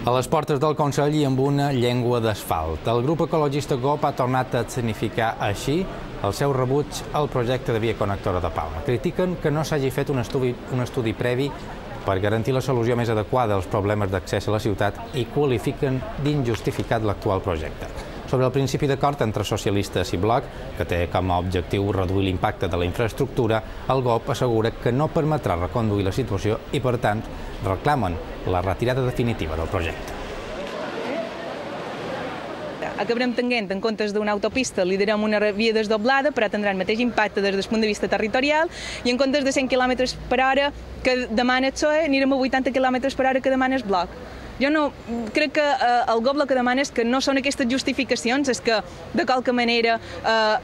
A les portes del Consell i amb una llengua d'asfalt. El grup ecologista GOP ha tornat a significar així el seu rebuig al projecte de via connectora de Palma. Critiquen que no s'hagi fet un estudi previ per garantir la solució més adequada als problemes d'accés a la ciutat i qualifiquen d'injustificat l'actual projecte. Sobre el principi d'acord entre socialistes i Bloc, que té com a objectiu reduir l'impacte de la infraestructura, el GOP assegura que no permetrà reconduir la situació i, per tant, reclamen la retirada definitiva del projecte. Acabarem tenint, en comptes d'una autopista, liderem una via desdoblada, però tindrà el mateix impacte des del punt de vista territorial, i en comptes de 100 km per hora que demana el PSOE, anirem a 80 km per hora que demana el Bloc. Jo no crec que el GOP el que demana és que no són aquestes justificacions, és que de qualque manera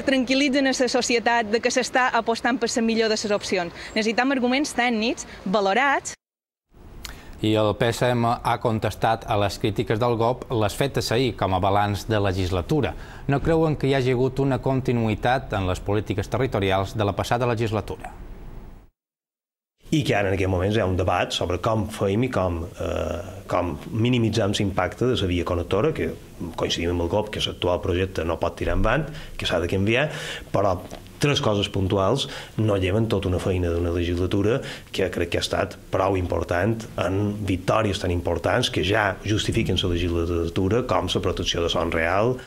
tranquil·litzen a la societat de que s'està apostant per la millor de les opcions. Necessitem arguments tècnics, valorats. I el PSM ha contestat a les crítiques del GOP les fetes ahir com a balanç de legislatura. No creuen que hi hagi hagut una continuïtat en les polítiques territorials de la passada legislatura. I que ara en aquests moments hi ha un debat sobre com fem i com minimitzem l'impacte de la via connectora, que coincidim amb el GOP que l'actual projecte no pot tirar endavant, que s'ha de canviar, però tres coses puntuals no lleven tota una feina d'una legislatura que crec que ha estat prou important en victòries tan importants que ja justifiquen la legislatura, com la protecció de son real,